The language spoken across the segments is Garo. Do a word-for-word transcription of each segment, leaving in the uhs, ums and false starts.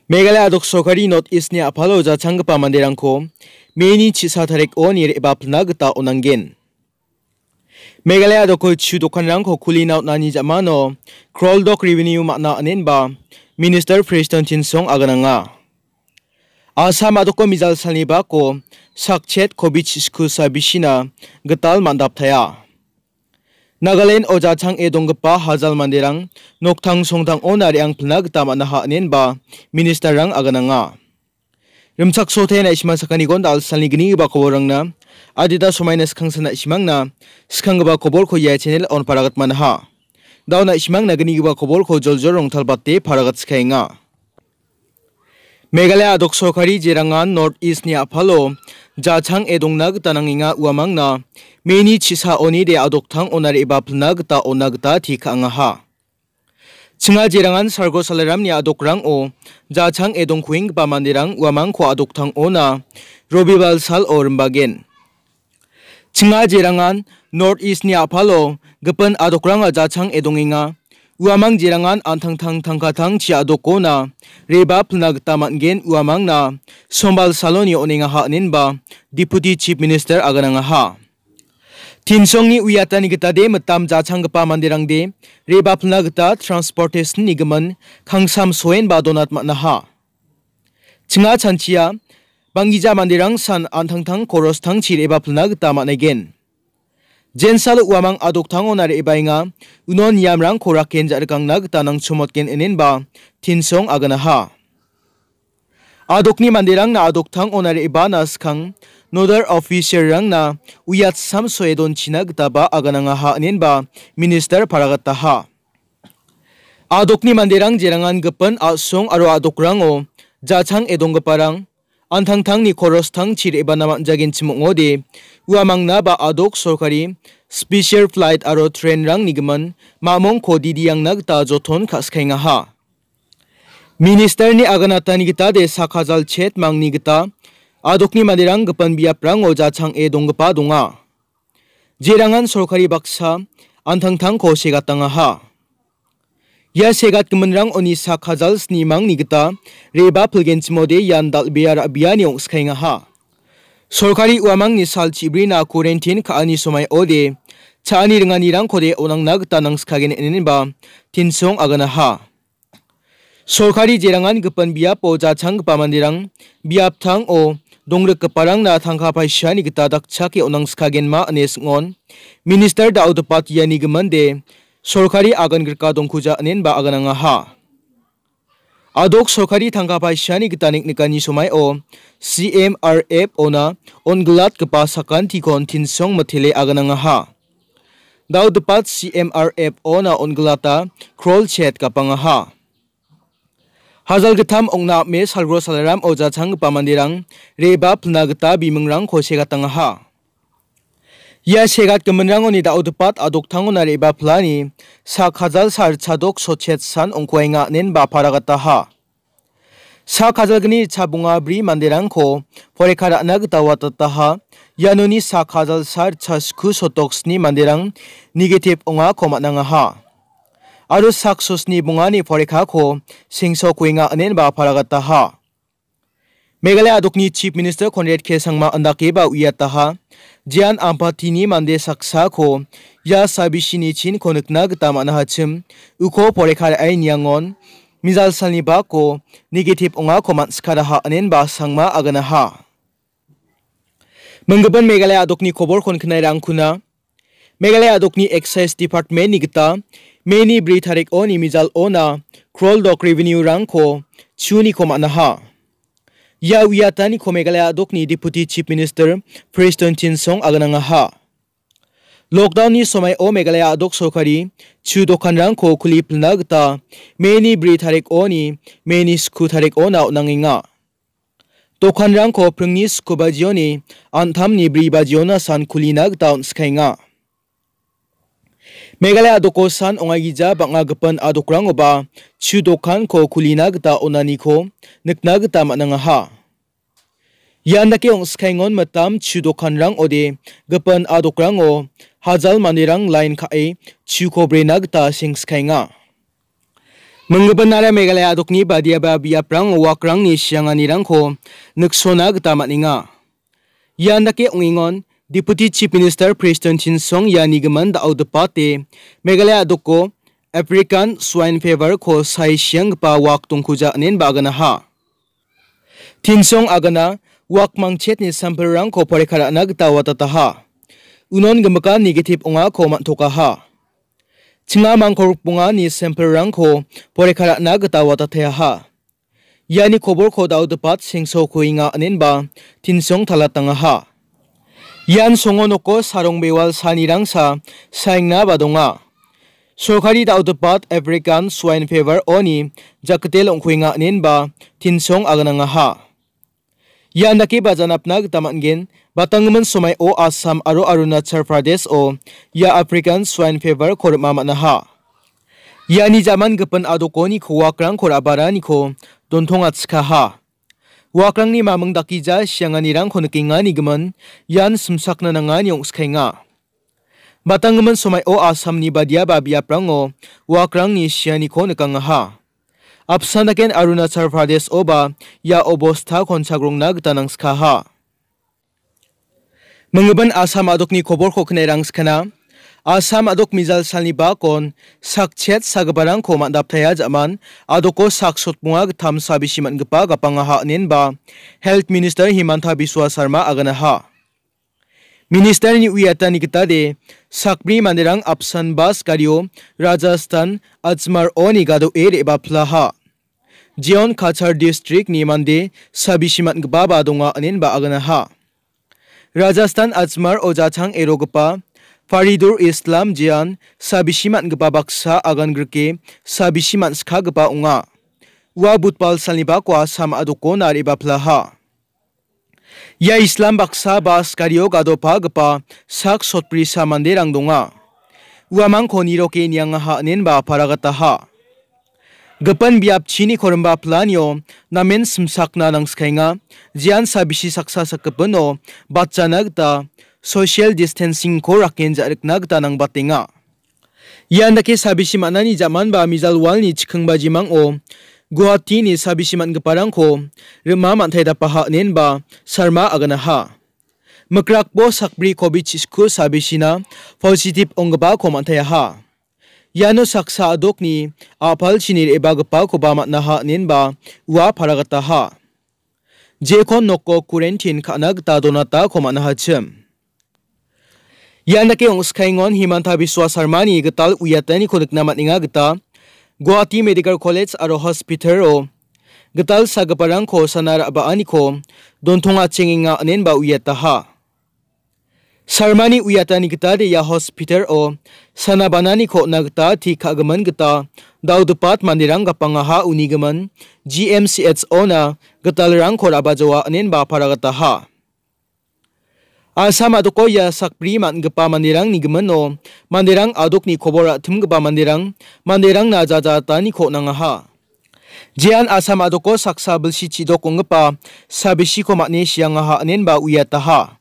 Meghalaya a·dok sorkari North East-ni a·palo jachanggipa manderangko May-ni chisa tarikoni re·bapilna gita on·angen. Meghalaya a·doko chu dokanrangko kulina on·ani ja·mano crore dok revenue man·a inenba Minister Prestone Tynsong agananga. Assam a·doko mijal salni bako sakchet covid sku sabisina gital man·daptaia. Nagaland-o jachang·e donggipa hajal manderang noktang songtang-ona re·angpilna gita man·aha inenba Minister-rang agananga. Rimchaksote na·simang sakaniko da·alsalni gnigipa koborrangna adita somaina skangsan na·simangna skanggipa koborko ia channel-on paragat manaha. Da·o na·simangna gnigipa koborko joljol rongtalbate paragat skaenga. Meghalaya a·dok sorkari jerangan North East-ni a·palo jachang·e dongna gita nangenga uamangna May-ni chisaonide a·doktang ona re·bapilna gita ona gita teka angaha. Chinga jerangan Sargo Salaramni a·dokrango jachang·e dongkuenggipa manderang uamangko a·doktang ona Robibal salo rimbagen. Chinga jerangan North East-ni a·palo gipin a·dokrangna jachang·e dongenga. Uamang jerangan an·tangtang tangkatangchi a·dokona re·bapilna gita man·gen uamangna sombal saloni on·engaha inenba Deputy Chief Minister aganangaha. Tynsongni uiatani gitade mitam jachanggipa manderangde re·bapilna gita transportation-ni gimin kangsam soenba donat man·aha. Chinga chanchia, banggija manderang san an·tangtang koros tangchi re·bapilna gita man·aigen. Jensalo uamang a·doktangona re·baenga, uno niamrangko raken ja·rikangna gita nangchomotgen inenba Tynsong aganaha. A·dokni manderangna a·doktangona re·bana skang nodal officer-rangna uiatsam soe donchina gitaba aganangaha inenba minister paragataha. A·dokni manderang jerangan gipin a·song aro a·dokrango jachang·e donggiparang an·tangtangni koros tangchi re·bana man·jagenchim ong·ode, uamangna ba a·dok sorkari special flight aro train-rangni gimin mamongko didiangna gita joton ka·skaengaha. Minister-ni aganatani gitade sak hajal chet mangni gita a·dokni manderang gipin biaprango jachang·e donggipa donga. Jerangan sorkari baksa an·tangtangko segatangaha. Ia segatgiminrang oni sak hajal sni mangni gita re·bapilgenchimode ian dal·bea ra·biani ong·skaengaha. Sorkari uamangni sal chibrina quarantine ka·ani somaiode cha·ani ringanirangkode on·angna gita nangskagen inenba Tynsong aganaha. Sorkari jerangan gipin biapo jachanggipa manderang biaptango dongrikgiparangna tangka paisani gita dakchake on·angskagenma ine sing·on. Minister Daodepat iani giminde sorkari agan grika dongkuja inenba aganangaha. A·dok sorkari tangka paisani gita niknikani somaio C M R F ona on·gilatgipa sakantikon Tynsong mitele aganangaha. Daodepat C M R F ona on·gilata krol chet gapangaha. Hajal gittam ong·na ame salgro salaram oja changgipa manderang re·bapilna gita bimingrangko segatangaha. Ia segatgiminrangoni Daodepat a·doktangona re·bapilani sak hajal sa ritchadok sochet san ong·kuaenga inenba paragataha. Sak hajalgni ritchabonga bri manderangko porikha ra·na gita watataha. Ianoni sak hajal sa ritchasku sotok sni manderang negative ongako man·angaha. Aro sak sosni bongani porikhako sengsokuenga inenba paragataha. Meghalaya a·dokni Chief Minister Conrad K Sangma andakeba uiataha, Jian Ampatini mande saksako ia sabisini chinko nikna gita man·ahachim, uko porikha ra·e niangon, mijal salni bako negative ongako man·sikaraha inenba Sangma aganaha. Minggipa Meghalaya a·dokni koborkon knairangkuna, Meghalaya a·dokni Excise Department-ni gita May-ni bri tarikoni mijal ona krol dok revenue-rangko chuniko man·aha. Ia uiataniko Meghalaya a·dokni Deputy Chief Minister Prestone Tynsong aganangaha. Lockdown-ni somaio Meghalaya a·dok sorkari chu dokanrangko kuli pilna gita May-ni bri tarikoni May-ni sku tarikona on·angenga. Dokanrangko pringni sku bajioni an·tamni bri bajiona san kulina gita on·sikaenga. Meghalaya a·doko san ong·aigija bang·a gipin a·dokrangoba chu dokanko kulina gita on·aniko nikna gita man·angaha. Ian dake ong·sikaengon mitam chu dokanrang ode gipin a·dokrango hajal manderang lain ka·e chuko brena gita sengskaenga. Minggipa nara Meghalaya adokni badiaba biaprango wakrangni sianganirangko niksona gita man·enga. Ian dake ong·engon, Deputy Chief Minister Prestone Tynsong iani gimin da·o dipate Meghalaya adoko African Swine Fever-ko sai sianggipa wak dongkuja inenba aganaha. Tynsong agana wak mangchetni sampelrangko poreka ra·na gita watataha. Unon gimikan negative ong·ako man·tokaha. Chinga mangkorok bongani sampelrangko poreka ra·na gita watateaha. Iani koborko da·o dipat sengsokuenga inenba Tynsong talatangaha. Ian songo noko sarong bewal sanirangsa saengnaba donga. Sorkari da·o dipat African Swine Fever-oni jakkitel ong·kuenga inenba Tynsong aganangaha. Ian dake bajanapna gita man·gen, batanggimin somaio Assam aro Arunachal Pradesh-o ia African Swine Fever-ko rima man·aha. Iani jaman gipin adokoni kowakrangko ra·baraniko dontongachikaha. Wakrangni maming dakgija sianganirangko nikenganigimin ian simsakna nangani ong·skaenga. Batanggimin somaio Assamni badiaba biaprango wakrangni sianiko nikangaha. Apsan daken Arunachal Pradesh-oba ia obostakon chagrongna gita nangskaha. Minggimin Assam adokni koborko knae rangskana. Assam adok mijal salni bakon sakchet sagiparangko man·daptaia ja·man adoko sak sotmonga gittam sabisi man·gipa gapangaha inenba Health Minister Himanta Biswa Sarma aganaha. Ministerni uiatani gitade sakbri manderang apsan bas gario Rajasthan Ajmer-oni gadoe re·baplaha. Jeon Cachar district-ni mande sabisi man·gipaba donga inenba aganaha. Rajasthan Ajmer-o jachang erogipa Faridur Islam Jeon sabisi man·gipa baksa agan grike sabisi man·skagipa ong·a. Ua budbal salni bako Assam adokona re·baplaha. Ia Islam baksa bas gario gadopagipa sak sotbrisa manderang donga. Uamangko niroke niangaha inenba paragataha. Gipin biapchini korimba planio namen simsakna nangskaenga, jean sabisi saksa sakgipino batjana gita social distancing-ko raken ja·rikna gita nangbatenga. Ian dake sabisi man·ani ja·manba mijal walni chiking bajimang·o Guwahati-ni sabisi man·giparangko rima man·tae dapaha inenba Sarma aganaha. Mikrakbo sakbri covid chisku sabisina positive onggipako man·taeaha. Iano saksa adokni a·palchini re·bagipakoba man·aha inenba ua paragataha. Jekon noko quarantine ka·na gita donatako man·ahachim. Ian dake ong·skaengon Himanta Biswa Sarmani gital uiataniko nikna man·enga gita Guwahati Medical College aro Hospital-o gital sagiparangko sana ra·baaniko dontongachengenga inenba uiataha. Sarmani uiatani gitade ia hospital-o sana bananiko on·a gita ti ka·gimin gita dal·gipa manderang gapangaha unigimin G M C H-ona gitalrangko ra·bajoa inenba paragataha. Assam adoko ia sakbri man·gipa manderangni gimino manderang adokni kobor ra·timgipa manderang, manderangna jajataniko on·angaha. Jean Assam adoko saksa bilsi chidok ong·gipa sabisiko man·e siangaha inenba uiataha.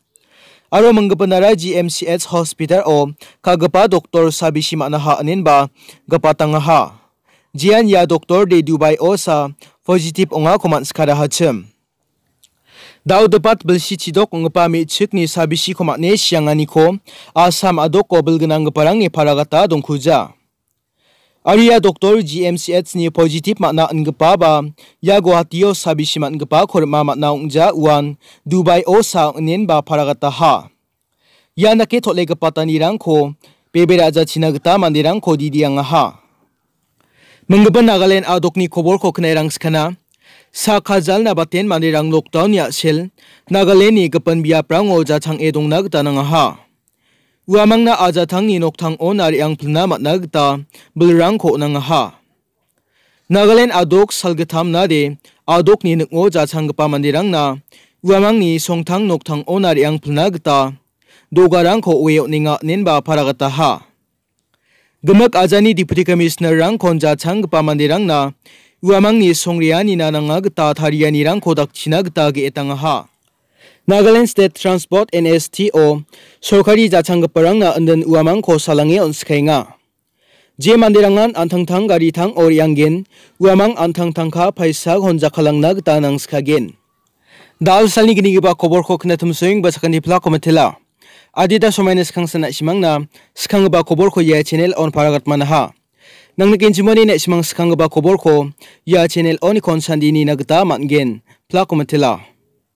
Aro minggipa nara G M C H hospital-o ka·gipa doktor sabisi man·aha inenba gipatangaha. Jean ia doktor de Dubai-o sa positive ong·ako man·sikarahachim. Dal·gipa bilsi chidok ong·gipa me·chikni sabisiko man·e sianganiko Assam adoko bilgnanggiparangni paragata dongkuja. Aro ia doktor G M C H-ni positive man·a ingipaba ia Guwahati-o sabisi man·gipako rima man·a ong·ja uan Dubai-o sa ong·enba paragataha. Ian dake tol·egipatanirangko bebe ra·jachina gita manderangko didiangaha. Minggipa Nagaland adokni koborko knae rangskana. Sak hajalna baten manderang lockdown-ni a·sel Nagaland-ni gipin biaprango jachang·e dongna gita nangaha. Uamangna ajatangni noktangon a·reang pilna man·a gita bilrangko on·angaha. Nagaland adok salgittamnade adokni ning·o jachanggipa manderangna uamangni songtang noktangon a·reang pilna gita dogarangko oe on·enga inenba paragataha. Gimik ajani Deputy Commissioner-rangkon jachanggipa manderangna uamangni songreanina nanga gita tarianirangko dakchina gita ge·etangaha. Nagaland State Transport, N S T O, sorkari jachanggiparangna indin uamangko salange on·skaenga. Je manderangan an·tangtang garitang o re·angen, uamang an·tangtangka paisa honjakalangna gita nangskagen. Dal salni gnigipa koborko knatumsoeng ba sakani plako mitela. Adita somaina skangsan na·simangna skanggipa koborko ia channel on paragatmanaha. Nangnikenchimoni na·simang skanggipa koborko ia channel on konsandini na gita man·gen. Plako mitela.